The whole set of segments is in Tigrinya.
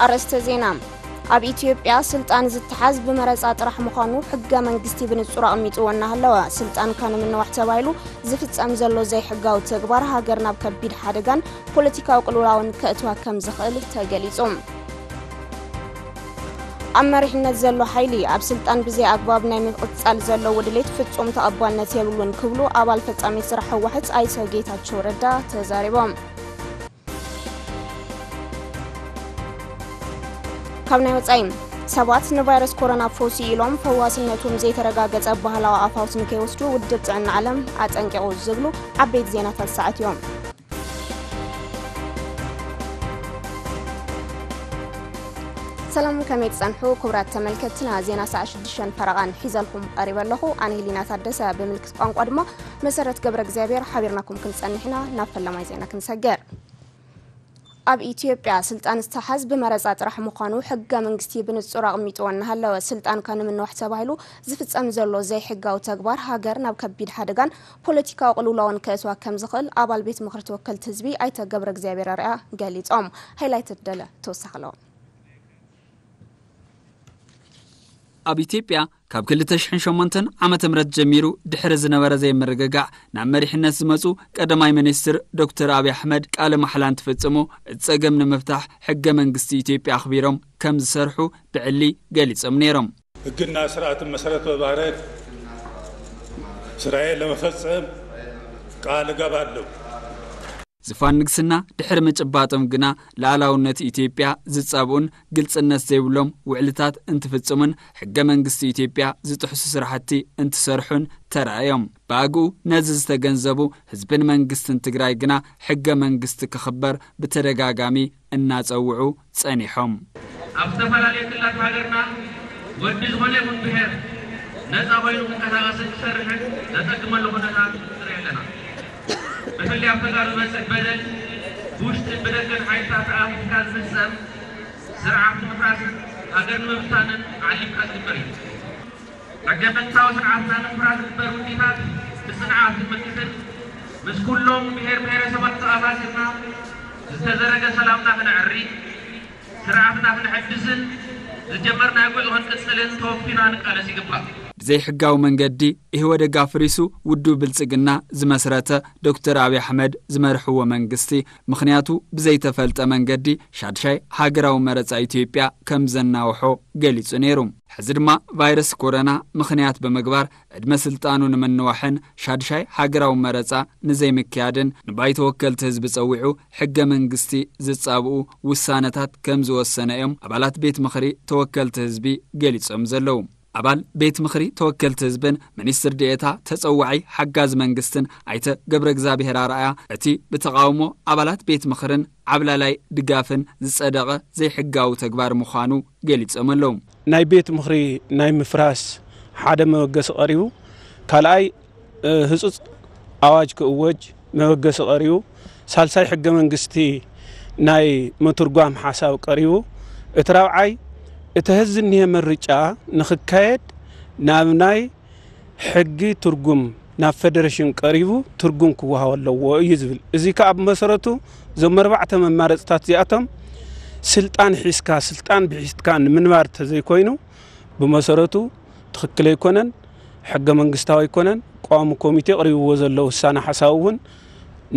ኣርእስተ ዜና። ኣብ ኢትዮጵያ ስልጣን ዝተሓዝ ብመረጻ ጥራሕ ምዃኑ ሕገ መንግስቲ ብንጹር ኣቕሚጥዎ እናሃለወ፣ ስልጣንካ ንምንዋሕ ተባሂሉ ዝፍጸም ዘሎ ዘይሕጋዊ ተግባር ሃገር ናብ ከቢድ ሓደጋን ፖለቲካዊ ቅልውላውን ከእትዋ ከም ዝኽእል ተገሊጹ። ኣብ መሪሕነት ዘሎ ሓይሊ ኣብ ስልጣን ብዘይ ኣግባብ ናይ ምቕጻል ዘለዎ ድሌት ፍጹም ተቐባልነት የብሉን ክብሉ ኣባል ፈጻሚ ስራሕ ህወሓት ኣይተ ጌታቸው ረዳ ተዛሪቦም። ካብ ናይ ወጻኢ፣ ሰባት ንቫይረስ ኮሮና ፈውሲ ኢሎም ፈዋስነቶም ዘይተረጋገጸ ባህላዊ ኣፋውስ ንከይወስዱ ውድብ ጥዕና ዓለም ኣጠንቂቑ ዝብሉ ዓበይቲ ዜናታት ሰዓት እዮም። ሰላም፣ ከመይ ትጸንሑ ክቡራት ተመልከትትና? ዜና ሰዓት ሽዱሽተ ፈረቓን ሒዘልኩም ቀሪበ ኣለኹ። ኣነ ሄሊና ታደሰ፣ ብምልክት ቋንቋ ድማ መሰረት ገብረ እግዚኣብሔር ሓቢርናኩም ክንጸንሕ ኢና። ናብ ፈለማይ ዜና ክንሰገር። ኣብ ኢትዮጵያ ስልጣን ዝተሓዝ ብመረጻ ጥራሕ ምዃኑ ሕገ መንግስቲ ብንጹር ኣቕሚጥዎ እናሃለወ፣ ስልጣንካ ንምንዋሕ ተባሂሉ ዝፍጸም ዘሎ ዘይሕጋዊ ተግባር ሃገር ናብ ከቢድ ሓደጋን ፖለቲካዊ ቅልውላውን ከእትዋ ከም ዝኽእል ኣባል ቤት ምኽሪ ተወከልቲ ህዝቢ ኣይተ ገብረ እግዚኣብሔር ኣርኣያ ገሊጾም። ሃይላይት ደለ ተወሳኺ ኣለዎ። ኣብ ኢትዮጵያ ካብ ክልተ ሽሕን ሸሞንተን ዓመተ ምህረት ጀሚሩ ድሕሪ ዝነበረ ዘይምርግጋዕ ናብ መሪሕነት ዝመጹ ቀዳማይ ሚኒስትር ዶክተር ኣብይ ኣሕመድ ቃለ ማሕላ እንትፍጽሙ፣ እቲ ጸገም ንምፍታሕ ሕገ መንግስቲ ኢትዮጵያ ኣኽቢሮም ከም ዝሰርሑ ብዕሊ ገሊጾም ነይሮም። ሕግና ስርዓትን መሰረት በማድረግ ስራዬን ለመፈጸም ቃል እገባለሁ። ዝፋን ንግስና ድሕሪ ምጭባጦም ግና፣ ሉዓላውነት ኢትዮጵያ ዝጻብኡን ግልጽነት ዘይብሎም ውዕልታት እንትፍጽሙን ሕገ መንግስቲ ኢትዮጵያ ዝጥሕሱ ስራሕቲ እንትሰርሑን ተራእዮም። ብኣግኡ ነዚ ዝተገንዘቡ ህዝብን መንግስትን ትግራይ ግና፣ ሕገ መንግስቲ ክኽበር ብተደጋጋሚ እናጸውዑ ጸኒሖም። ኣብ ዝተፈላለዩ ክልላት ሃገርና ወዲ ዝኾነ ይኹን ብሔር ነፃ ኮይኑ ክንቀሳቐስን ክሰርሕን ዘጸግመሉ ኩነታት ንርኢ ኣለና። ብፍላይ ኣብ ተጋሩ ዝበፅሕ በደል ብውሽጥን ብደገን ሓይልታት ተኣፊፍካ ዝፍፀም፣ ስርዓት ንምፍራስን ሃገር ንምብታንን ዓሊምካ ዝግበር እዩ። ሕገ መንግስታዊ ስርዓትና ንምፍራስ ዝግበር ውዲታት ብፅንዓት ክንምክትን ምስ ኩሎም ብሔር ብሔረሰባት ተኣሳሲርና ዝተዘረገ ሰላምና ክነዕሪ፣ ስርዓትና ክንሕድስን ዝጀመርናዮ ጉዕዞ ክንቅጽልን ተወፊና ንቃለስ ይግባእ። ብዘይሕጋዊ መንገዲ ኢህወደግ ኣፍሪሱ ውድብ ብልጽግና ዝመስረተ ዶክተር ኣብይ ኣሕመድ ዝመርሕዎ መንግስቲ፣ ምኽንያቱ ብዘይተፈልጠ መንገዲ ሻድሻይ ሃገራዊ መረጻ ኢትዮጵያ ከም ዘናውሖ ገሊጹ ነይሩ። ሕዚ ድማ ቫይረስ ኮሮና ምኽንያት ብምግባር ዕድመ ስልጣኑ ንምንዋሕን ሻድሻይ ሃገራዊ መረጻ ንዘይምክያድን ንባይቶ ወከልቲ ህዝቢ ጸዊዑ ሕገ መንግስቲ ዝጻብኡ ውሳነታት ከም ዝወሰነ እዮም ኣባላት ቤት ምኽሪ ተወከልቲ ህዝቢ ገሊጾም ዘለዉ። ኣባል ቤት ምኽሪ ተወከልቲ ህዝብን ሚኒስትር ዲኤታ ተጸዋዒ ሓጋዚ መንግስትን ኣይተ ገብረ እግዚኣብሔር ኣርኣያ፣ እቲ ብተቓውሞ ኣባላት ቤት ምኽርን ዓብላላይ ድጋፍን ዝጸደቐ ዘይሕጋዊ ተግባር ምዃኑ ገሊጾም ኣለዉ። ናይ ቤት ምኽሪ ናይ ምፍራስ ሓደ መበገሲ ቀሪቡ፣ ካልኣይ፣ እ፣ ህጹጽ ኣዋጅ ክእወጅ መበገሲ ቀሪቡ፣ ሳልሳይ ሕገ መንግስቲ ናይ ምትርጓም ሓሳብ ቀሪቡ፣ እቲ ራብዓይ፣ እቲ ሐዚ እኒሀ ምርጫ ንኽካየድ ናብ ናይ ሕጊ ትርጉም ናብ ፌደሬሽን ቀሪቡ ትርጉም ክወሃቦ ኣለዎ እዩ ዝብል። እዚ ከኣ ብመሰረቱ እዞም ኣርባዕተ መማረፅታት እዚኣቶም ስልጣን ሒዝካ ስልጣን ብሒዝካ ንምንባር ተዘይኮይኑ ብመሰረቱ ትኽክል ኣይኮነን፣ ሕገ መንግስታዊ ኣይኮነን። ቋሚ ኮሚቴ ኣቕሪብዎ ዘሎ ውሳነ ሓሳብ እውን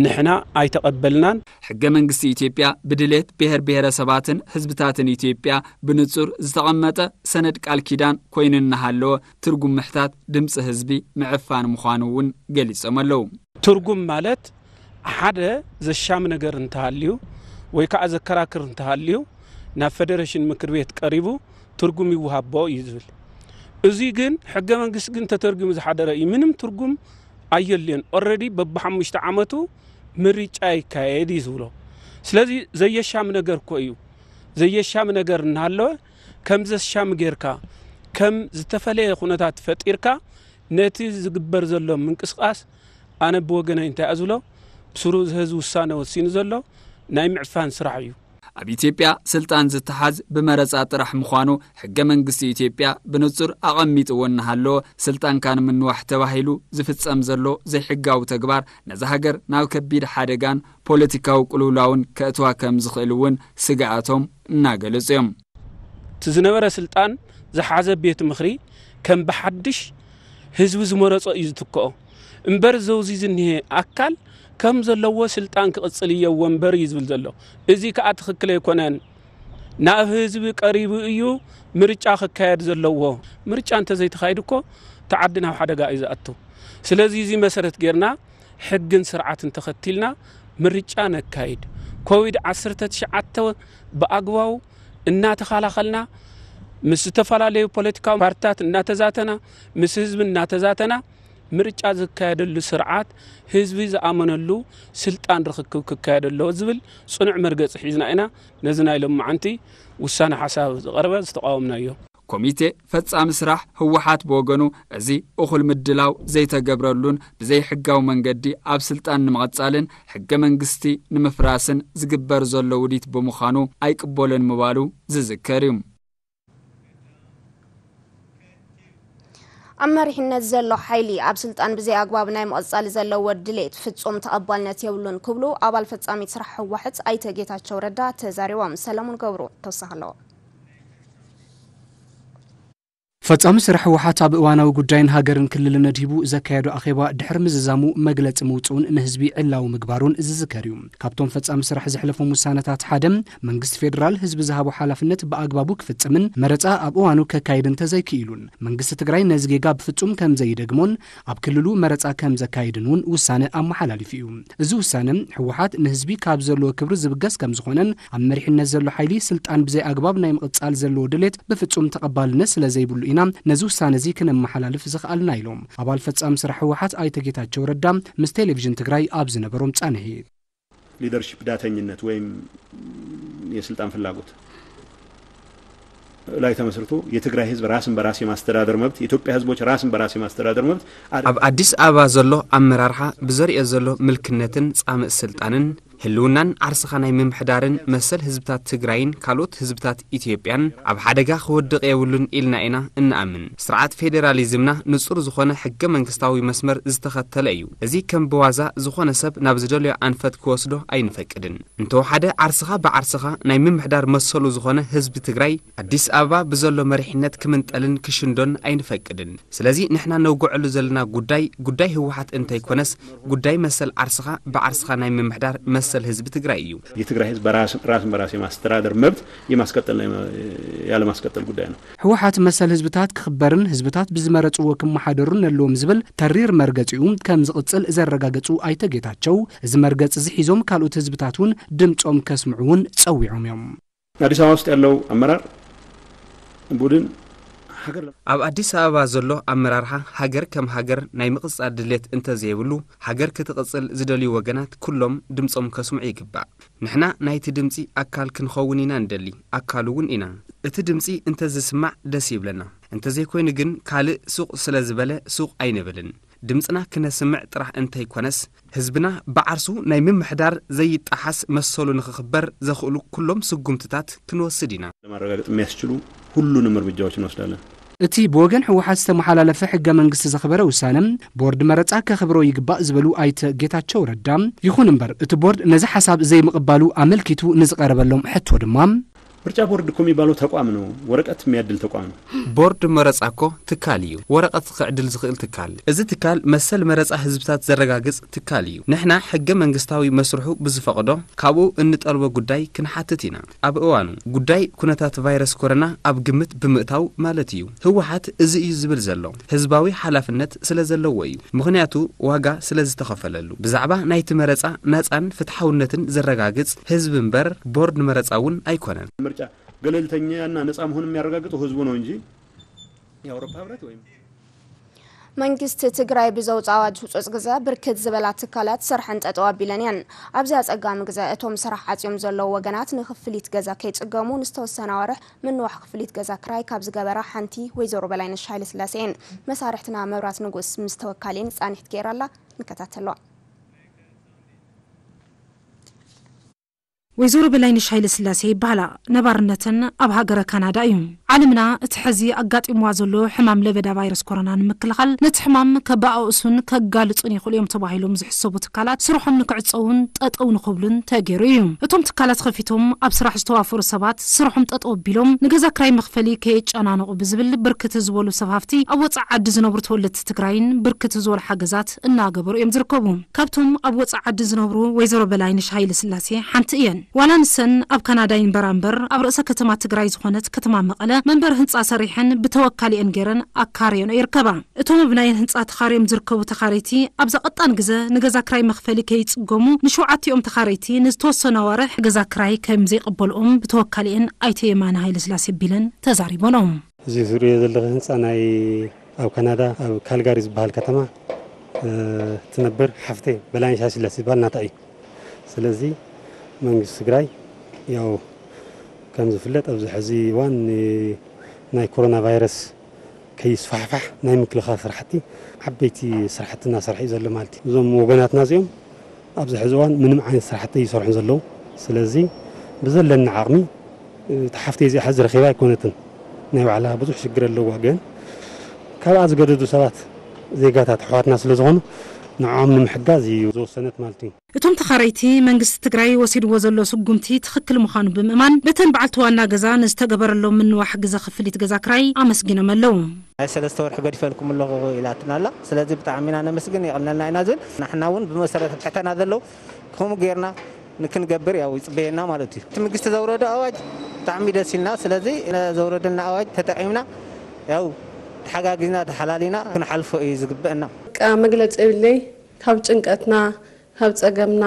ንሕና ኣይተቐበልናን። ሕገ መንግስቲ ኢትዮጵያ ብድሌት ብሔር ብሔረሰባትን ህዝብታትን ኢትዮጵያ ብንጹር ዝተቐመጠ ሰነድ ቃል ኪዳን ኮይኑ እናሃለወ፣ ትርጉም ምሕታት ድምፂ ህዝቢ ምዕፋን ምዃኑ እውን ገሊጾም ኣለዉ። ትርጉም ማለት ሓደ ዘሻሚ ነገር እንተሃልዩ ወይ ከዓ ዘከራክር እንተሃልዩ ናብ ፌደሬሽን ምክር ቤት ቀሪቡ ትርጉም ይወሃቦ እዩ ዝብል። እዚ ግን ሕገ መንግስቲ ግን ተተርጉሙ ዝሓደረ እዩ። ምንም ትርጉም ኣየልዮን። ኦልሬዲ በብሓሙሽተ ዓመቱ ምርጫ ይካየድ እዩ ዝብሎ። ስለዚ ዘየሻሚ ነገር እኮ እዩ። ዘየሻሚ ነገር እናሃለወ ከም ዘሻሚ ጌርካ፣ ከም ዝተፈለየ ኩነታት ፈጢርካ ነቲ ዝግበር ዘሎ ምንቅስቃስ ኣነ ብወገነይ እንታይ እየ ዝብሎ፣ ብስሩ እዚ ህዝቢ ውሳነ ወሲኑ ዘሎ ናይ ምዕፋን ስራሕ እዩ። ኣብ ኢትዮጵያ ስልጣን ዝተሓዝ ብመረፃ ጥራሕ ምዃኑ ሕገ መንግስቲ ኢትዮጵያ ብንጹር ኣቐሚጥዎ እናሃለወ፣ ስልጣንካ ንምንዋሕ ተባሂሉ ዝፍጸም ዘሎ ዘይሕጋዊ ተግባር ነዛ ሃገር ናብ ከቢድ ሓደጋን ፖለቲካዊ ቅልውላውን ከእትዋ ከም ዝኽእል እውን ስግኣቶም እናገለጹ እዮም። እቲ ዝነበረ ስልጣን ዝሓዘ ቤት ምኽሪ ከም ብሓድሽ ህዝቢ ዝመረጾ እዩ ዝትክኦ እምበር፣ ዘውዚ ዝኒሀ ኣካል ከም ዘለዎ ስልጣን ክቕጽል እየዎ እምበር እዩ ዝብል ዘሎ። እዚ ከኣ ትኽክል ኣይኮነን። ናብ ህዝቢ ቀሪቡ እዩ ምርጫ ክካየድ ዘለዎ። ምርጫ እንተዘይተኻይዱ እኮ እቲ ዓዲ ናብ ሓደጋ እዩ ዝኣቱ። ስለዚ እዚ መሰረት ጌርና ሕግን ስርዓትን ተኸቲልና ምርጫ ነካይድ። ኮቪድ ዓሰርተ ትሽዓተ ብኣግባቡ እናተኸላኸልና፣ ምስ ዝተፈላለዩ ፖለቲካዊ ፓርትታት እናተዛተና፣ ምስ ህዝቢ እናተዛተና፣ ምርጫ ዝካየደሉ ስርዓት ህዝቢ ዝኣመነሉ ስልጣን ርኽክብ ክካየድ ኣለዎ ዝብል ጽኑዕ መርገጺ ሒዝና ኢና ነዚ ናይ ሎማዓንቲ ውሳነ ሓሳብ ዝቐረበ ዝተቓወምናዮ። ኮሚቴ ፈጻሚ ስራሕ ህወሓት ብወገኑ፣ እዚ እኹል ምድላው ዘይተገብረሉን ብዘይሕጋዊ መንገዲ ኣብ ስልጣን ንምቕጻልን ሕገ መንግስቲ ንምፍራስን ዝግበር ዘሎ ውዲት ብምዃኑ ኣይቅበሎን ምባሉ ዝዝከር እዩ። ኣብ መሪሕነት ዘሎ ሓይሊ ኣብ ስልጣን ብዘይ ኣግባብ ናይ ምቕጻል ዘለዎ ድሌት ፍጹም ተቐባልነት የብሉን ክብሉ ኣባል ፈጻሚት ስራሕ ህወሓት ኣይተ ጌታቸው ረዳ ተዛሪቦም። ሰለሙን ገብሩ ተወሳኺ ኣለዎ። ፈጻሚ ስራሕ ህወሓት ኣብ እዋናዊ ጉዳይን ሃገርን ክልልን ኣድሂቡ ዘካየዶ ኣኼባ ድሕሪ ምዝዛሙ መግለጺ ምውፅኡን ንህዝቢ ዕላዊ ምግባሩን ዝዝከር እዩ። ካብቶም ፈጻሚ ስራሕ ዘሕለፎም ውሳነታት ሓደ መንግስቲ ፌዴራል ህዝቢ ዝሃቦ ሓላፍነት ብኣግባቡ ክፍጽምን መረፃ ኣብ እዋኑ ከካይድ እንተዘይክኢሉን መንግስቲ ትግራይ ነዚ ጌጋ ብፍጹም ከም ዘይደግሞን ኣብ ክልሉ መረፃ ከም ዘካይድን እውን ውሳነ ኣመሓላሊፉ እዩ። እዚ ውሳነ ህወሓት ንህዝቢ ካብ ዘለዎ ክብሪ ዝብገስ ከም ዝኾነን ኣብ መሪሕነት ዘሎ ሓይሊ ስልጣን ብዘይ ኣግባብ ናይ ምቕጻል ዘለዎ ድሌት ብፍጹም ተቐባልነት ስለ ዘይብሉ ኢና ነዚ ውሳነ እዚ ክነመሓላልፍ ዝኸኣልና ኢሎም ኣባል ፈጻሚ ስራሕ ህወሓት ኣይተ ጌታቸው ረዳ ምስ ቴሌቪዥን ትግራይ ኣብ ዝነበሮም ጻንሒት። ሊደርሺፕ ዳተኝነት ወይም የስልጣን ፍላጎት ላይ ተመስርቶ የትግራይ ህዝብ ራስን በራስ የማስተዳደር መብት፣ የኢትዮጵያ ህዝቦች ራስን በራስ የማስተዳደር መብት ኣብ ኣዲስ ኣበባ ዘሎ ኣመራርሓ ብዘርእዮ ዘሎ ምልክነትን ጻምእ ስልጣንን ህልውናን ዓርስኻ ናይ ምምሕዳርን መሰል ህዝብታት ትግራይን ካልኦት ህዝብታት ኢትዮጵያን ኣብ ሓደጋ ክወድቕ የብሉን ኢልና ኢና እንኣምን። ስርዓት ፌዴራሊዝምና ንጹር ዝኾነ ሕገ መንግስታዊ መስመር ዝተኸተለ እዩ። እዚ ከም ብዋዛ ዝኾነ ሰብ ናብ ዝደልዮ ኣንፈት ክወስዶ ኣይንፈቅድን። እንተወሓደ ዓርስኻ ብዓርስኻ ናይ ምምሕዳር መሰሉ ዝኾነ ህዝቢ ትግራይ ኣዲስ ኣበባ ብዘሎ መሪሕነት ክምንጠልን ክሽንዶን ኣይንፈቅድን። ስለዚ ንሕና ነውግዐሉ ዘለና ጉዳይ ጉዳይ ህወሓት እንተይኮነስ ጉዳይ መሰል ዓርስኻ ብዓርስኻ ናይ ምምሕዳር መሰል ህዝቢ ትግራይ እዩ። የትግራይ ህዝብ ራስን በራስ የማስተዳደር መብት የማስቀጠል ያለማስቀጠል ጉዳይ ነው። ህወሓት መሰል ህዝብታት ክኽበርን ህዝብታት ብዝመረፅዎ ክመሓደሩን ኣለዎም ዝብል ተሪር መርገፂኡ ከም ዝቕፅል ዘረጋገፁ ኣይተ ጌታቸው፣ እዚ መርገፂ እዚ ሒዞም ካልኦት ህዝብታት እውን ድምፆም ከስምዑ እውን ፀዊዖም እዮም። አዲስ አበባ ውስጥ ያለው አመራር ቡድን ሀገር ኣብ ኣዲስ ኣበባ ዘሎ ኣመራርሓ ሃገር ከም ሃገር ናይ ምቕጻል ድሌት እንተዘይብሉ፣ ሃገር ክትቕጽል ዝደልዩ ወገናት ኩሎም ድምጾም ከስምዑ ይግባእ። ንሕና ናይቲ ድምጺ ኣካል ክንኸውን ኢና ንደሊ፣ ኣካሉ እውን ኢና። እቲ ድምጺ እንተዝስማዕ ደስ ይብለና። እንተዘይኮይኑ ግን ካልእ ሱቕ ስለ ዝበለ ሱቕ ኣይንብልን። ድምጽና ክነስምዕ ጥራሕ እንተይኮነስ፣ ህዝብና ብዓርሱ ናይ ምምሕዳር ዘይጠሓስ መሰሉ ንኽኽበር ዘኽእሉ ኩሎም ስጉምትታት ክንወስድ ኢና። ለማረጋገጥ የሚያስችሉ ሁሉንም እርምጃዎች እንወስዳለን። እቲ ብወገን ህወሓት ዝተመሓላለፈ ሕገ መንግስቲ ዘኽበረ ውሳነ ቦርድ መረፃ ከኽብሮ ይግባእ ዝበሉ ኣይተ ጌታቸው ረዳ፣ ይኹን እምበር እቲ ቦርድ ነዚ ሓሳብ ዘይምቕባሉ ኣመልኪቱ ንዝቐረበሎም ሕቶ ድማ፣ ምርጫ ቦርድ እኮ የሚባለው ተቋም ነው፣ ወረቀት የሚያድል ተቋም ነው። ቦርድ መረፃ እኮ ትካል እዩ፣ ወረቐት ክዕድል ዝኽእል ትካል። እዚ ትካል መሰል መረፃ ህዝብታት ዘረጋግፅ ትካል እዩ። ንሕና ሕገ መንግስታዊ መስርሑ ብዝፈቕዶ ካብኡ እንጠልቦ ጉዳይ ክንሓትት ኢና። ኣብ እዋኑ ጉዳይ ኩነታት ቫይረስ ኮረና ኣብ ግምት ብምእታው ማለት እዩ። ህወሓት እዚ እዩ ዝብል ዘሎ ህዝባዊ ሓላፍነት ስለ ዘለዎ እዩ። ምኽንያቱ ዋጋ ስለ ዝተኸፈለሉ። ብዛዕባ ናይቲ መረፃ ናፃን ፍትሓውነትን ዘረጋግፅ ህዝቢ እምበር ቦርድ መረፃ እውን ኣይኮነን። ምርጫ ገለልተኛና ነፃ መሆን የሚያረጋግጠው ህዝቡ ነው እንጂ የአውሮፓ ህብረት ወይም መንግስቲ ትግራይ ብዘውፅኦ ኣዋጅ ህፁፅ ግዘ ብርክት ዝበላ ትካላት ስርሐን ጠጠው ኣቢለን እየን። ኣብዚ ኣፀጋሚ ግዘ እቶም ስራሕ ዓፅዮም ዘለዉ ወገናት ንክፍሊት ገዛ ከይፅገሙ ንዝተወሰነ ኣዋርሕ ምንዋሕ ክፍሊት ገዛ ክራይ ካብ ዝገበራ ሓንቲ ወይዘሮ በላይነሽ ሃይለስላሴ እየን። መሳርሕትና መብራት ንጉስ ምስ ተወካሊን ፃንሒት ገይራላ። ንከታተሎ። ወይዘሮ በላይነሽ ሃይለ ስላሴ ይበሃላ። ነባርነተን ኣብ ሃገረ ካናዳ እዩ። ዓለምና እቲ ሕዚ ኣጋጢምዋ ዘሎ ሕማም ለበዳ ቫይረስ ኮሮና ንምክልኻል፣ ነቲ ሕማም ከባኣእሱን ከጋልጹን ይኽእሉ እዮም ተባሂሎም ዝሕሰቡ ትካላት ስርሖም ንክዕጸውን ጠጠው ንክብሉን ተገይሩ እዩ። እቶም ትካላት ከፊቶም ኣብ ስራሕ ዝተዋፈሩ ሰባት ስርሖም ጠጠው ኣቢሎም ንገዛ ክራይ መኽፈሊ ከየጨናነቑ ብዝብል ብርክት ዝበሉ ሰብ ሃፍቲ ኣብ ወጻኢ ዓዲ ዝነብሩ ተወለድቲ ትግራይን ብርክት ዝበሉ ሓገዛት እናገበሩ እዮም ዝርከቡ። ካብቶም ኣብ ወጻኢ ዓዲ ዝነብሩ ወይዘሮ በላይነሽ ሃይለ ስላሴ ሓንቲ እየን። ዋላ ንሰን ኣብ ካናዳ ይንበራ እምበር ኣብ ርእሰ ከተማ ትግራይ ዝኾነት ከተማ መቐለ መንበሪ ህንፃ ሰሪሐን ብተወካሊአን ገይረን ኣካርየን ይርከባ። እቶም ኣብ ናይ ህንፃ ተኻርዮም ዝርከቡ ተኻረይቲ ኣብዛ ቀጣን ግዘ ንገዛ ክራይ መኽፈሊ ከይፅገሙ ንሸውዓቲኦም ተኻረይቲ ንዝተወሰነ ወርሕ ገዛ ክራይ ከም ዘይቕበልኦም ብተወካሊአን ኣይተ የማነ ሃይለ ስላሴ ቢለን ተዛሪቦም። እዚ ዝሪኦ ዘለኹ ህንፃ ናይ ኣብ ካናዳ ኣብ ካልጋሪ ዝበሃል ከተማ ትነብር ሓፍተይ በላይነሽ ሃይለ ስላሴ ዝበሃል ናታ እዩ። ስለዚ መንግስቲ ትግራይ ያው ከም ዝፍለጥ ኣብዚ ሕዚ እዋን ናይ ኮሮና ቫይረስ ከይስፋሕፋሕ ናይ ምክልኻል ስራሕቲ ዓበይቲ ስራሕቲ እናሰርሐ እዩ ዘሎ ማለት እዩ። እዞም ወገናትና እዚኦም ኣብዚ ሕዚ እዋን ምንም ዓይነት ስራሕቲ ይሰርሑ ዘለዉ። ስለዚ ብዘለና ዓቕሚ እቲ ሓፍተይ እዚኣ ሕዚ ረኺባ ኣይኮነትን፣ ናይ ባዕላ ብዙሕ ሽግር ኣለዋ። ግን ካብኣ ዝገደዱ ሰባት ዜጋታት ኣሕዋትና ስለ ዝኾኑ ንዕኦም ንምሕጋዝ እዩ ዝወሰነት ማለት እዩ። እቶም ተኻረይቲ መንግስቲ ትግራይ ወሲድዎ ዘሎ ስጉምቲ ትኽክል ምዃኑ ብምእማን በተን በዓልቲ ዋና ገዛ ንዝተገበረሎም ምንዋሕ ግዘ ክፍሊት ገዛ ክራይ ኣመስጊኖም ኣለዉ። ናይ ሰለስተ ወርሒ ገዲፈልኩም ኣለኹ ኢላትና ኣላ። ስለዚ ብጣዕሚ ኢና ነመስግን፣ የቕንልና ኢና ዝብል። ንሕና እውን ብመሰረት ትሕተና ዘለዉ ከምኡ ጌርና ንክንገብር ያው ይፅበየና ማለት እዩ። እቲ መንግስቲ ዘውረዶ ኣዋጅ ብጣዕሚ ደስ ኢልና። ስለዚ ዘውረደና ኣዋጅ ተጠቂምና ያው ተሓጋጊዝና ተሓላሊና ክንሓልፎ እዩ ዝግበአና። በቃ መግለፂ የብለይ። ካብ ጭንቀትና ካብ ፀገምና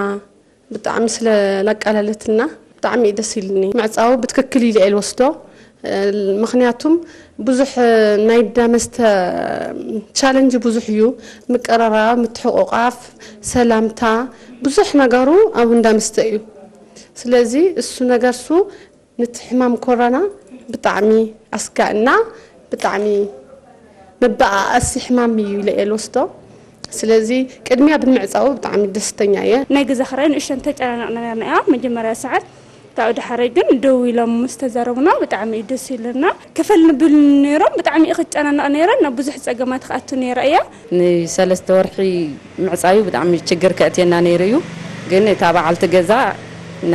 ብጣዕሚ ስለ ላቃለለትና ብጣዕሚ እዩ ደስ ኢልኒ። ምዕፃው ብትክክል ኢለ እየ ልወስዶ። ምክንያቱም ብዙሕ ናይ እንዳ መስተ ቻለንጅ ብዙሕ እዩ። ምቅርራብ፣ ምትሕቁቃፍ፣ ሰላምታ፣ ብዙሕ ነገሩ ኣብ እንዳ መስተ እዩ። ስለዚ እሱ ነገር እሱ ነቲ ሕማም ኮሮና ብጣዕሚ ኣስጋእና፣ ብጣዕሚ መበኣኣሲ ሕማም እዩ ኢለ እየ ልወስዶ። ስለዚ ቅድሚያ ብምዕፃው ብጣዕሚ ደስተኛ እየ። ናይ ገዛ ክራይ ንእሽተን ተጨናነቕና ነርና እያ። መጀመርያ ሰዓት ካብኡ ድሓረይ ግን ደው ኢሎም ምስ ተዛረቡና ብጣዕሚ እዩ ደስ ኢሉና። ክፈል ንብል ነይሮም ብጣዕሚ እዩ ክጨናነቕ ነይረ፣ ናብ ብዙሕ ፀገማት ክኣቱ ነይረ እያ። ንሰለስተ ወርሒ ምዕፃዩ ብጣዕሚ ችግር ከእትየና ነይሩ እዩ። ግን እታ በዓልቲ ገዛ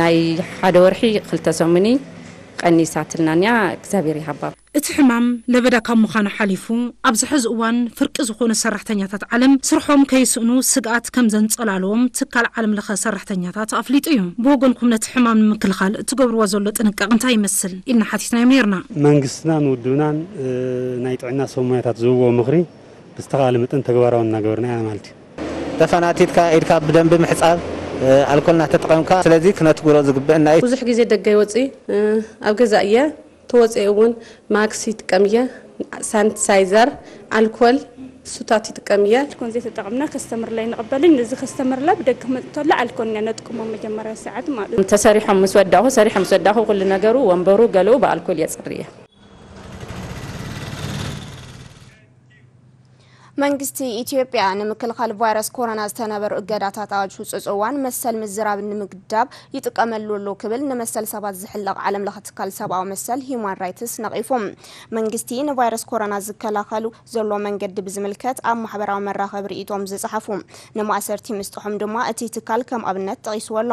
ናይ ሓደ ወርሒ ክልተ ሰሙኒ ቀኒሳትልና እያ። እግዚኣብሔር ይሃባ። እቲ ሕማም ለበዳ ካብ ምዃኑ ሓሊፉ ኣብዚ ሕዚ እዋን ፍርቂ ዝኾኑ ሰራሕተኛታት ዓለም ስርሖም ከይስእኑ ስግኣት ከም ዘንጸላለዎም ትካል ዓለም ለኸ ሰራሕተኛታት ኣፍሊጡ እዩ። ብወገንኩም ነቲ ሕማም ንምክልኻል እትገብርዎ ዘሎ ጥንቃቕ እንታይ ይመስል ኢልና ሓቲትናዮም ነይርና። መንግስትና ንውድብናን ናይ ጥዕና ሰብ ሞያታት ዝህብዎ ምኽሪ ብዝተኻለ መጠን ተግባራዊ እናገበርና ኢና ማለት እዩ። ተፈናቲትካ ኢድካ ብደንቢ ምሕፃብ፣ ኣልኮል እናተጠቐምካ ስለዚ ክነትግብሮ ዝግበአና እዩ። ብዙሕ ግዜ ደገ ይወፅእ ኣብ ገዛ እየ ተወፅኤ እውን ማክስ ይጥቀም እየ፣ ሳኒታይዘር፣ ኣልኮል፣ ሱታት ይጥቀም እየ። ኣልኮል ዘይተጠቐምና ከስተምር ላይ ንቕበልን እዚ ከስተምር ላይ ብደገ ክመፅእ ተሎ ኣልኮል ኢና ነጥቅሞ መጀመርያ ሰዓት ማለት እዩ። ተሰሪሖም ምስ ወዳኹ ሰሪሖም ምስ ወዳኹ ኩሉ ነገሩ ወንበሩ ገለኡ ብኣልኮል የፅሪ እየ። መንግስቲ ኢትዮጵያ ንምክልኻል ቫይረስ ኮሮና ዝተነበሩ እገዳታት ኣብ ሕጹጽ እዋን መሰል ምዝራብ ንምግዳብ ይጥቀመሉ ኣሎ ክብል ንመሰል ሰባት ዝሕለቕ ዓለም ለኸ ትካል ሰብኣዊ መሰል ሂዩማን ራይትስ ነቒፉ። መንግስቲ ንቫይረስ ኮሮና ዝከላኸሉ ዘሎ መንገዲ ብዝምልከት ኣብ ማሕበራዊ መራኸቢ ርእይቶም ዝጸሓፉ ንማእሰርቲ ምስጥሖም ድማ እቲ ትካል ከም ኣብነት ጠቒስዎ ኣሎ።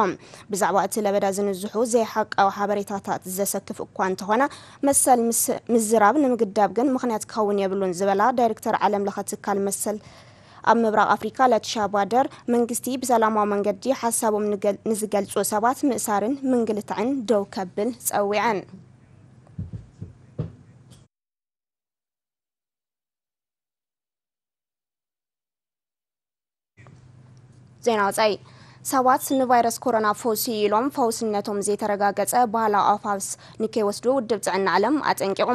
ብዛዕባ እቲ ለበዳ ዝንዝሑ ዘይሓቃዊ ሓበሬታታት ዘሰክፍ እኳ እንተኾነ፣ መሰል ምዝራብ ንምግዳብ ግን ምኽንያት ክኸውን የብሉን ዝበላ ዳይሬክተር ዓለም ለኸ ትካል መሰል ኣብ ምብራቕ ኣፍሪካ ለቲሻ ባደር፣ መንግስቲ ብሰላማዊ መንገዲ ሓሳቦም ንዝገልፁ ሰባት ምእሳርን ምንግልታዕን ደው ከብል ፀዊዐን። ዜና ወፃኢ። ሰባት ንቫይረስ ኮሮና ፈውሲ ኢሎም ፈውስነቶም ዘይተረጋገፀ ባህላዊ ኣፋውስ ንከይወስዱ ውድብ ጥዕና ዓለም ኣጠንቂቑ።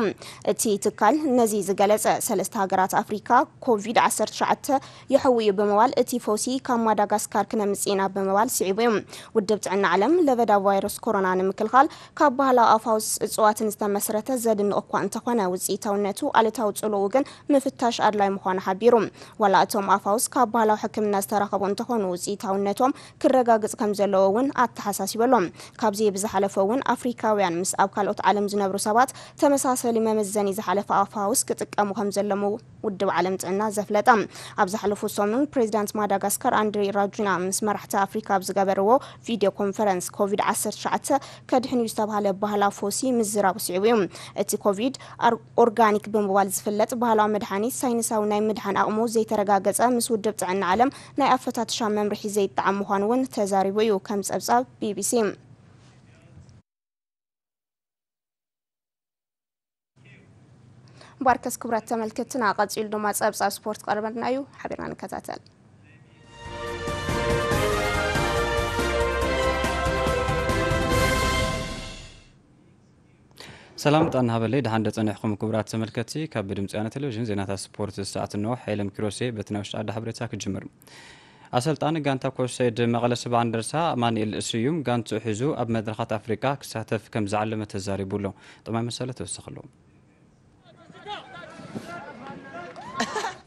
እቲ ትካል ነዚ ዝገለፀ ሰለስተ ሃገራት ኣፍሪካ ኮቪድ ዓሰርተ ትሽዓተ ይሕው እዩ ብምባል እቲ ፈውሲ ካብ ማዳጋስካር ክነምፅእ ኢና ብምባል ስዒቡ እዩ። ውድብ ጥዕና ዓለም ለበዳ ቫይረስ ኮሮና ንምክልኻል ካብ ባህላዊ ኣፋውስ እፅዋትን ዝተመስረተ ዘድንቕ እኳ እንተኾነ ውፅኢታውነቱ ኣሉታዊ ፅልኡ ግን ምፍታሽ ኣድላይ ምዃኑ ሓቢሩ። ዋላ እቶም ኣፋውስ ካብ ባህላዊ ሕክምና ዝተረኸቡ እንተኾኑ ውፅኢታውነቶም ክረጋግጽ ከም ዘለዎ እውን ኣተሓሳሲቡ ኣሎ። ካብዚ ብዝሓለፈ እውን ኣፍሪካውያን ምስ ኣብ ካልኦት ዓለም ዝነብሩ ሰባት ተመሳሰሊ መመዘኒ ዝሓለፈ ኣፋውስ ክጥቀሙ ከም ዘለሙ ውድብ ዓለም ጥዕና ዘፍለጠ። ኣብ ዝሓለፉ ሰሙን ፕሬዚዳንት ማዳጋስካር ኣንድሪ ራጁና ምስ መራሕቲ ኣፍሪካ ኣብ ዝገበርዎ ቪድዮ ኮንፈረንስ ኮቪድ ዓሰርተ ትሽዓተ ከድሕን እዩ ዝተባሃለ ባህላ ፎሲ ምዝራቡ ስዒቡ እዩ። እቲ ኮቪድ ኣር- ኦርጋኒክ ብምባል ዝፍለጥ ባህላዊ መድሓኒት ሳይንሳዊ ናይ ምድሓን ኣቕሙ ዘይተረጋገጸ ምስ ውድብ ጥዕና ዓለም ናይ ኣፈታትሻ መምርሒ ዘይጠዓም ምዃኑ እውን ተዛሪቡ እዩ ከም ጸብጻብ ቢቢሲ። ባርከስ ክብራት ተመልከትና ቀጺሉ ድማ ጸብጻብ ስፖርት ቀርበልና እዩ ሓቢርና ንከታተል። ሰላም ጥዕና ሃበለይ ደሓን ደጸኒሕኩም ክቡራት ተመልከቲ ካብ ድምፂ ያነ ቴሌቪዥን ዜናታት ስፖርት ሰዓት እንሆ። ሓይለም ኪሮሴ በቲ ናይ ውሽጢ ዓዲ ሓበሬታ ክጅምር። ኣሰልጣኒ ጋንታ ኩዕሶ ኢድ መቐለ ሰብዓ እንደርታ ኣማኑኤል ስዩም ጋንትኡ ሒዙ ኣብ መድረኻት ኣፍሪቃ ክሳተፍ ከም ዝዓለመ ተዛሪቡ ኣሎ። ጥማይ መሰለ ተወሰኸሉ።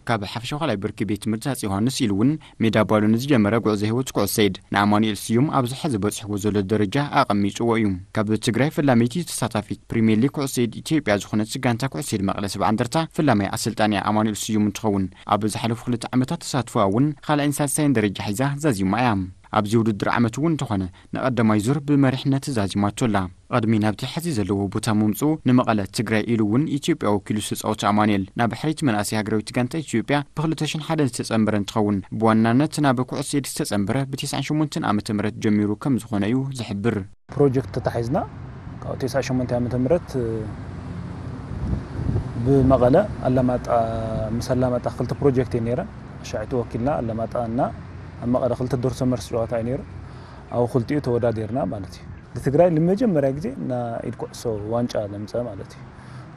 ካብ ሓፈሻ ካልኣይ ብርኪ ቤት ትምህርቲ ኣጽ ዮሃንስ ኢሉ እውን ሜዳ ባሉ ንዝጀመረ ጉዕዞ ህይወት ኩዕሶ ኢድ ንኣማኑኤል ስዩም ኣብዚ ሕዚ በጽሕዎ ዘሎ ደረጃ ኣቐሚጥዎ እዩ። ካብ ትግራይ ፈላመይቲ ተሳታፊት ፕሪምየር ሊግ ኩዕሶ ኢድ ኢትዮጵያ ዝኾነት ጋንታ ኩዕሶ ኢድ መቐለ ሰብዓ እንደርታ ፈላማይ ኣሰልጣኒያ ኣማኑኤል ስዩም እንትኸውን ኣብ ዝሓለፉ ክልተ ዓመታት ተሳትፎ እውን ካልኣይን ሳልሳይን ደረጃ ሒዛ ዛዚማ እያ። ኣብዚ ውድድር ዓመት እውን እንተኾነ ንቐዳማይ ዙር ብመሪሕነት ዛዚማቶ ኣላ። ቅድሚ ናብቲ ሕዚ ዘለዎ ቦታ ምምፅኡ ንመቐለ ትግራይ ኢሉ እውን ኢትዮጵያ ወኪሉ ዝተፃወተ ኣማኑኤል ናብ ሕሪት መናእሰይ ሃገራዊት ጋንታ ኢትዮጵያ ብ ክልተ ሽሕን ሓደን ዝተፀንበረ እንትኸውን ብዋናነት ናብ ኩዕሶ ኢድ ዝተፀንበረ ብ ተስዓን ሸሞንተን ዓመተ ምህረት ጀሚሩ ከም ዝኾነ እዩ ዝሕብር። ፕሮጀክት ተታሒዝና ካብ ተስዓን ሸሞንተን ዓመተ ምህረት ብመቐለ ኣላማጣ ምስ ኣላማጣ ክልተ ፕሮጀክት እየ ነይረን። ኣሻዒቱ ወኪልና ኣላማጣ እና ኣብ መቐለ ክልተ ዶርሶ መርስ ጨዋታ እዩ ነይሩ። ኣብ ክልቲኡ ተወዳዲርና ማለት እዩ። ንትግራይ ንመጀመርያ ግዜ እና ኢድ ኩዕሶ ዋንጫ ለምፀ ማለት እዩ።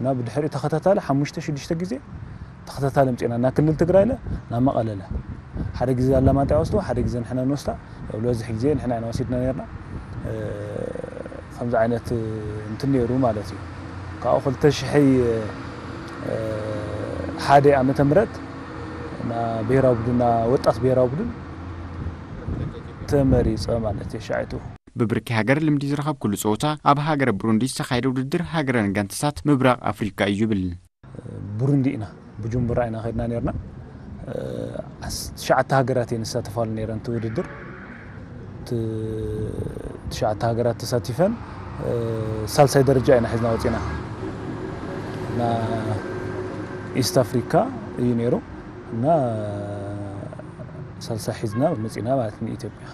እና ብድሕሪኡ ተኸታታሊ ሓሙሽተ ሽዱሽተ ግዜ ተኸታታሊ ኣምፂና እና ክልል ትግራይ ለ ናብ መቐለ ለ ሓደ ግዜ ኣላማጣ ይወስዶ ሓደ ግዜ ንሕና ንወስዳ። ያው ዝበዝሕ ግዜ ንሕና ኢና ወሲድና ነርና። ከምዚ ዓይነት እንትን ነይሩ ማለት እዩ። ካብኡ ክልተ ሽሕ ሓደ ዓመተ ምህረት እና ብሄራዊ ቡድንና ወጣት ብሄራዊ ቡድን ተመሪፀ ማለት እዩ። ሻዒቱ ብብርኪ ሃገር ልምዲ ዝረኸብኩሉ ፀወታ ኣብ ሃገረ ብሩንዲ ዝተኻየደ ውድድር ሃገረን ጋንታታት ምብራቕ ኣፍሪካ እዩ ይብል። ብሩንዲ ኢና ብጁምቡራ ኢና ከድና ነርና። ትሽዓተ ሃገራት እየን ዝሳተፋሉ ነይረን እቲ ውድድር። ትሽዓተ ሃገራት ተሳቲፈን ሳልሳይ ደረጃ ኢና ሒዝና ወፂና እና ኢስት ኣፍሪካ እዩ ነይሩ እና ሳልሳይ ሒዝና መፂና ማለት ንኢትዮጵያ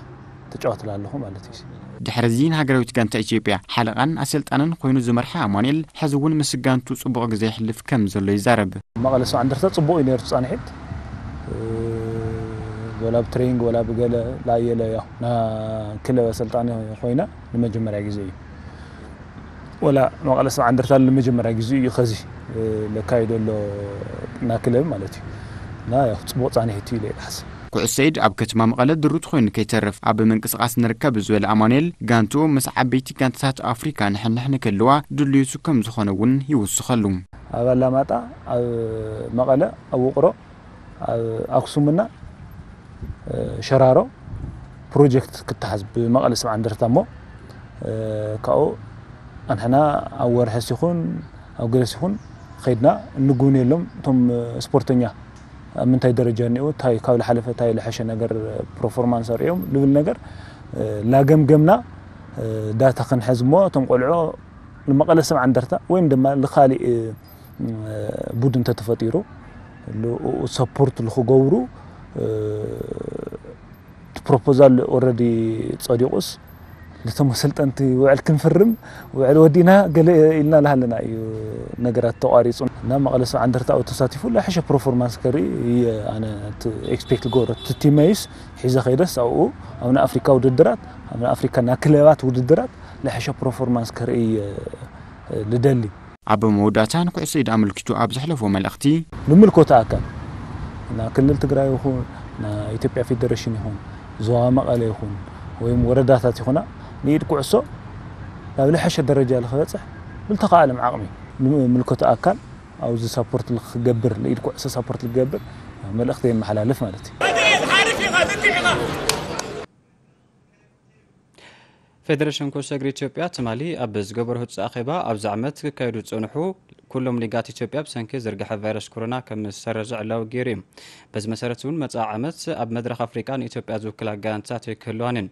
ተጫወትላ ኣለኹ ማለት እዩ። ድሕሪ እዚ ንሃገራዊት ጋንታ ኢትዮጵያ ሓለቓን ኣሰልጣንን ኮይኑ ዝመርሐ ኣማኑኤል ሕዚ እውን ምስ ጋንቱ ፅቡቕ ግዜ የሕልፍ ከም ዘሎ ይዛረብ። መቐለ ሰብዓ እንደርታ ፅቡቕ እዩ ነይሩ ፃንሒት ወላ ብትሬኒንግ ወላ ብገለ ላየለ ያው ና ክለብ ኣሰልጣኒ ኮይነ ንመጀመርያ ግዜ እዩ። ወላ መቐለ ሰብዓ እንደርታ ንመጀመርያ ግዜ እዩ ከዚ ለካይዶ ኣሎ ና ክለብ ማለት እዩ። እና ያው ፅቡቕ ፃንሒት እዩ ኢለ ይሓስብ። ኩዕሶ ኢድ ኣብ ከተማ መቐለ ድሩት ኮይኑ ከይተርፍ ኣብ ምንቅስቃስ ንርከብ ዝበለ ኣማኑኤል ጋንትኡ ምስ ዓበይቲ ጋንታታት ኣፍሪካ ንሕንሕ ንክህልዋ ድልዩቱ ከም ዝኾነ እውን ይውስኸሉ። ኣብ ኣላማጣ ኣብ መቐለ ኣብ ውቕሮ ኣብ ኣክሱምና ሸራሮ ፕሮጀክት ክተሓዝ ብመቐለ ሰብዓ እንደርታ እሞ ካብኡ ኣንሕና ኣብ ወርሕስ ይኹን ኣብ ገለስ ይኹን ኸይድና እንጉብንየሎም እቶም ስፖርተኛ ኣብ ምንታይ ደረጃ እኒኡ እንታይ ካብ ዝሓለፈ እንታይ ዝሐሸ ነገር ፐርፎርማንስ ኣርእዮም ልብል ነገር ላገምገምና ዳታ ክንሐዝ እሞ እቶም ቆልዑ ንመቐለ ሰብዓ እንደርታ ወይም ድማ ንካሊእ ቡድን እንተተፈጢሩ ሰፖርት ንክገብሩ እቲ ፕሮፖዛል ኦረዲ ጸዲቑስ ነቶም ኣሰልጠንቲ ውዕል ክንፍርም ውዕል ወዲና ገለ ኢልና ላሃለና እዩ ነገራት ተቋሪፁ እና መቐለ ሰብዓ እንደርታ ኣብኡ ተሳቲፉ ላሕሸ ፐርፎርማንስ ከርኢ እየ ኣነ ኤክስፔክት ገብሮ እቲ ቲመይስ ሒዘ ከይደስ ኣብኡ ኣብ ናይ ኣፍሪካ ውድድራት ኣብ ናይ ኣፍሪካ ናይ ክለባት ውድድራት ላሕሸ ፐርፎርማንስ ከርኢ እየ ልደሊ ኣብ መወዳእታ ንኩዕሶ ኢድ ኣመልኪቱ ኣብ ዘሕለፎ መልእኽቲ ንምልኮተ ኣካል ና ክልል ትግራይ ይኹን ና ኢትዮጵያ ፌደሬሽን ይኹን ዞባ መቐለ ይኹን ወይም ወረዳታት ይኹና ንኢድ ኩዕሶ ናብ ልሐሸ ደረጃ ልክበፅሕ ብልተኻኣለም ዓቕሚ ንምልኮተ ኣካል ኣብዚ ሳፖርት ልክገብር ንኢድ ኩዕሶ ሳፖርት ልገብር መልእኽቲ የመሓላልፍ ማለት እዩ። ፌደሬሽን ኩዕሶ እግሪ ኢትዮጵያ ትማሊ ኣብ ዝገበሮ ህጹጽ ኣኼባ፣ ኣብዚ ዓመት ክካየዱ ዝጸንሑ ኩሎም ሊጋት ኢትዮጵያ ብሰንኪ ዝርግሐ ቫይረስ ኮሮና ከም ዝሰረዙ ዕላዊ ገይሩ እዩ። በዚ መሰረት እውን መጻኢ ዓመት ኣብ መድረኽ ኣፍሪቃ ንኢትዮጵያ ዝውክላ ጋንታት ኣይክህልዋን እየን።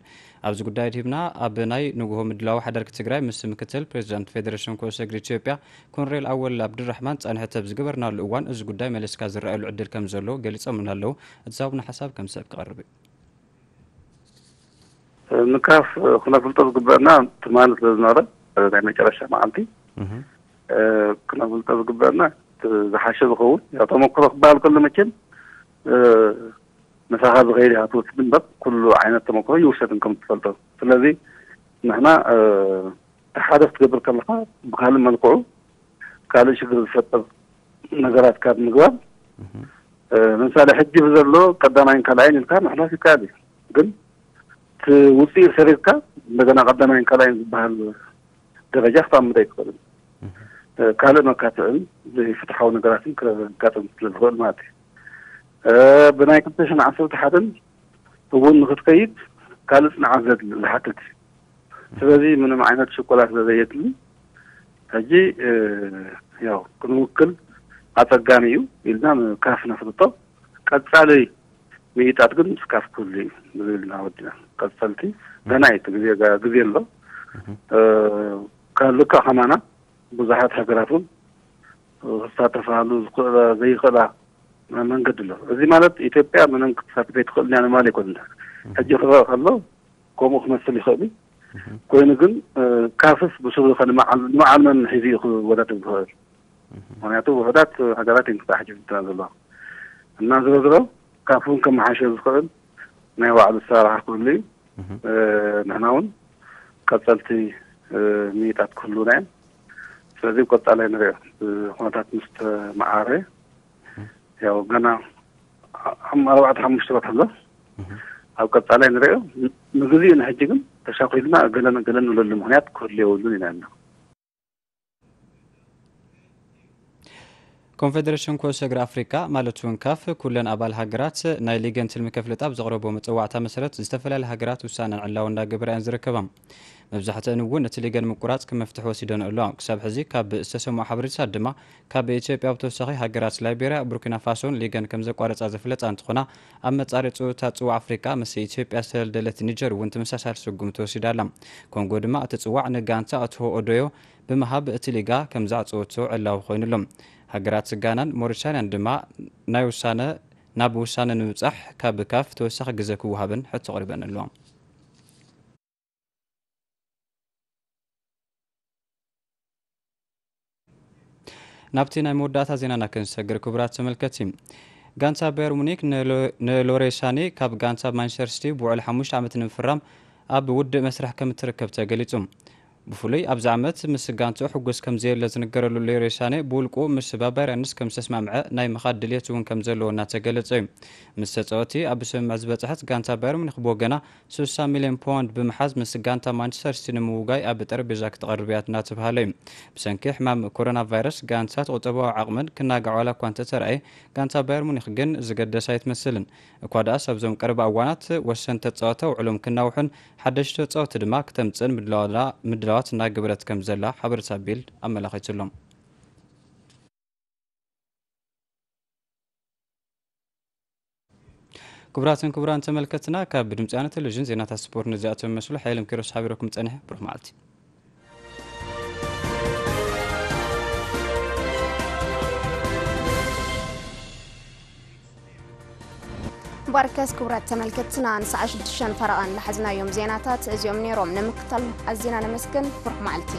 ኣብዚ ጉዳይ ድሂብና ኣብ ናይ ንግሆ ምድላው ሓደርኪ ትግራይ ምስ ምክትል ፕሬዚዳንት ፌደሬሽን ኩዕሶ እግሪ ኢትዮጵያ ኮንሬል ኣወል ኣብዱራሕማን ጻንሕቲ ኣብ ዝገበርናሉ እዋን፣ እዚ ጉዳይ መለስካ ዝረኣየሉ ዕድል ከም ዘሎ ገሊጾምና ኣለዉ። እቲ ዝሃቡና ሓሳብ ከም ሰብ ክቐርብ እዩ። ንካፍ ክነፍልጦ ዝግበአና ትማሊ ስለ ዝነበረ፣ ናይ መጨረሻ መዓልቲ ክነፍልጦ ዝግበአና ዝሓሸ ዝኸውን፣ ያው ተመክሮ ክበሃል ከሎ መቸም ምሳኻ ዝኸይድ ኢኻ ትወስድ እምበር፣ ኩሉ ዓይነት ተመክሮ ይውሰድን ከም ትፈልጦ። ስለዚ ንሕና እቲ ሓደ ክትገብር ከለኻ ብካልእ መልክዑ ካልእ ሽግር ዝፈጥር ነገራት ካብ ምግባር፣ ንምሳሌ ሕጂ ብዘሎ ቀዳማይን ካልኣይን ኢልካ ምሕላፍ ይከኣል እዩ። ግን እቲ ውፅኢት ሰሪርካ እንደገና ቀዳማይን ካልኣይን ዝበሃል ደረጃ ክተቕምጥ ኣይትኽእልን። ካልእ መካትዕን ዘይፍትሓዊ ነገራትን ከጋጥም ስለዝኽእል ማለት እዩ። ብናይ ክልተ ሽሕን ዓሰርተ ሓደን እውን ንክትከይድ ካልእ ፅንዓት ዝሓትት እዩ። ስለዚ ምንም ዓይነት ሽኮላ ስለዘየድሊ ሕጂ ያው ክንውክል ኣፀጋሚ እዩ ኢልና ንካፍ ነፍልጦ። ቀፃሊ ምይጣት ግን ምስ ካፍ ክህሉ እዩ ዝብል ኢና ወዲና። ቀፀልቲ ገና እዩ፣ ግዜ ግዜ ኣሎ። ልክዕ ከማና ብዙሓት ሃገራት እውን ክሳተፋሉ ዘይኽእላ መንገዲ ኣሎ። እዚ ማለት ኢትዮጵያ ምንም ክትሳተፍ ኣይትኽእልን እያ ንምባል ኣይኮንን። ሕጂ ክረአ ከሎ ከምኡ ክመስል ይኽእል እዩ። ኮይኑ ግን ካፍስ ብስሩ ከ ንመዓል መን ሒዙ እዩ ክወዳደር ዝኽእል? ምክንያቱ ውሑዳት ሃገራት እየን ክተሓሒዘን ዘለዋ እና ዝሮ ዝሮ ካፍ እውን ከመሓይሾ ዝኽእል ናይ ባዕሉ ኣሰራርሓ ክህሉ እዩ። ንሕና እውን ቀፀልቲ ምይጣት ክህልውና እዮም። ስለዚ ኣብ ቀፃላይ ንሪኦ፣ ኩነታት ምስ ተመዓረየ፣ ያው ገና ኣርባዕተ ሓሙሽተ ወርሒ ኣሎ። ኣብ ቀፃላይ ንሪኦ። ንግዚኡ ንሕጂ ግን ተሻኺልና ገለን ገለን ንብለሉ ምክንያት ክህሉ የብሉን ኢና። ኮንፌደሬሽን ኩዕሶ እግሪ ኣፍሪቃ ማለት እውን ካፍ ኩለን ኣባል ሃገራት ናይ ሊገን ትልሚ ከፍልጣ ኣብ ዘቕረቦ መፀዋዕታ መሰረት ዝተፈላለዩ ሃገራት ውሳነን ዕላዊ እንዳገበራ እየን ዝርከባ። መብዛሕትአን እውን እቲ ሊገን ምቁራፅ ከም መፍትሒ ወሲደን ኣለዋ። ክሳብ ሕዚ ካብ ዝተሰምዑ ሓበሬታታት ድማ ካብ ኢትዮጵያ ብተወሳኺ ሃገራት ላይቤርያ፣ ቡርኪና ፋሶን ሊገን ከም ዘቋረፃ ዝፍለጣ እንትኾና፣ ኣብ መፃረይ ፀወታ ፅዋዕ ኣፍሪቃ ምስ ኢትዮጵያ ዝተደልደለት ኒጀር እውን ተመሳሳሊ ስጉምቲ ወሲዳ ኣላ። ኮንጎ ድማ እቲ ፅዋዕ ንጋንታ ኣትሆ ኦዶዮ ብምሃብ እቲ ሊጋ ከም ዘዕፀወቶ ዕላዊ ኮይኑ ኣሎ። ሃገራት ጋናን ሞሪታንያን ድማ ናይ ውሳነ ናብ ውሳነ ንምብፃሕ ካብ ካፍ ተወሳኺ ግዘ ክወሃበን ሕቶ ኣቕሪበን ኣለዋ። ናብቲ ናይ መወዳእታ ዜናና ክንሰግር ክቡራት ተመልከትቲ፣ ጋንታ ባየር ሙኒክ ንሎሬ ሳኔ ካብ ጋንታ ማንቸስተር ሲቲ ብውዕል ሓሙሽተ ዓመት ንምፍራም ኣብ ውድእ መስርሕ ከም እትርከብ ተገሊጹ። ብፍሉይ ኣብዚ ዓመት ምስ ጋንትኡ ሕጉስ ከም ዘየለ ዝንገረሉ ሌሮይ ሳኔ ብውልቁ ምስ ባባርያንስ ከም ዝተስማምዐ ናይ ምኻድ ድልየት እውን ከም ዘለዎ እናተገለጸ እዩ። ምስ ተጻወቲ ኣብ ስምምዕ ዝበጽሐት ጋንታ ባየር ሙኒክ ብወገና ስሳ ሚልዮን ፓውንድ ብምሓዝ ምስ ጋንታ ማንቸስተር ሲቲ ንምውጋይ ኣብ ጠረጴዛ ክትቐርብ እያ እናተባህለ እዩ። ብሰንኪ ሕማም ኮሮና ቫይረስ ጋንታት ቁጠባዊ ዓቕመን ክናጋዕ ዋላ እኳ እንተተራእየ፣ ጋንታ ባየር ሙኒክ ግን ዝገደሳ ኣይትመስልን። እኳ ደኣስ ኣብዞም ቀረባ እዋናት ወሰንቲ ተጻወቲ ውዕሎም ክናውሑን ሓደሽቲ ተጻወቲ ድማ ክተምጽእን ምድላዋት እናገበረት ከም ዘላ ሓበሬታ ቢልድ ኣመላኺቱ ኣሎ። ክቡራትን ክቡራን ተመልከትና፣ ካብ ድምፂ ኣነ ቴሌቪዥን ዜናታት ስፖርት ነዚኣቶም መስሉ ሓይሎም ኪሮስ ሓቢረኩም ጸኒሐ። ብሩኽ መዓልቲ። ባርከስ ክቡራት ተመልከትትና ንሰዓ ሽዱሽተ ፈረቓን ለሓዝናዮም ዜናታት እዚኦም ነይሮም። ንምክታል ኣዚና ነመስግን። ብሩኽ መዓልቲ።